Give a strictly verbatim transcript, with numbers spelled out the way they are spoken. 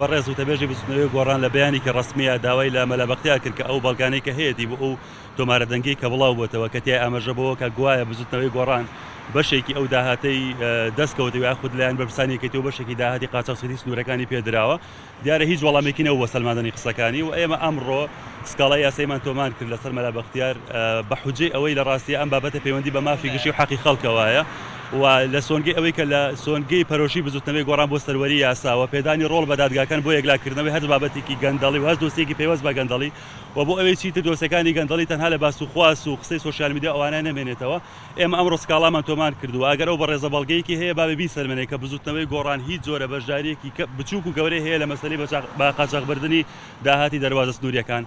بەڕێز وتەبێژی بزوتنەوەی گۆڕان لە بەیانێکی ڕەسمییا داوای لە مەلا بەختیار کرد کە ئەو بەڵگانەی کە هەیەتی بۆ ئەو تۆمارە دەنگیەی کە بڵاو بۆتەوە کە تیای ئاماژە بەوە کە گوایە بزوتنەوەی گۆڕان بەشێکی ئەو داهاتەی دەستکەوتەوە یاخود لایەن بەرپرسانی یەکێتی و بەشێکی داهاتی قاچاخچێتی سنوورەکانی پێدراوە دیارە هیچ وەڵامێکی نەبوو بۆ سەلماندنی قسەکانی و ئێمە ئەمڕۆ سکاڵای یاساییمان تۆمار کرد لەسەر مەلا بەختیار بە حوجەی ئەوەی لە ڕاستییا ئەم بابەتە پەیوەندی بە مافی گشتی و حەقی خەڵکەوەیە و لە سۆنگەی ئەوەی کە لە سۆنگەی پەرۆشی بزوتنەوەی گۆڕان بۆ سەروەری یاسا و پێدانی ڕۆڵ بە دادگاکان بۆ یەکلاکردنەوەی هەر بابەتێکی گەندەڵی و هەر دۆسیەکی پەیوەست بە گەندەڵی و بۆ ئەوەی چیتر دۆسیەکانی گەندەڵی تەنها لە باس و خواس و قسەی سۆشیال میدیا ئەوانە نەمێنێتەوە ئێمە ئەمڕۆ سکاڵامان تۆمار کردووە ئەگەر ئەو بەڕێزە بەڵگەیەکی هەیە با بێ بیسەلمێنێ کە بزوتنەوەی گۆڕان هیچ جۆرە بەشدارییەکی بچووک و گەورەی هەیە لە مەسەلەی بە قاچاخبردنی داهاتی دەروازە سنوورییەکان.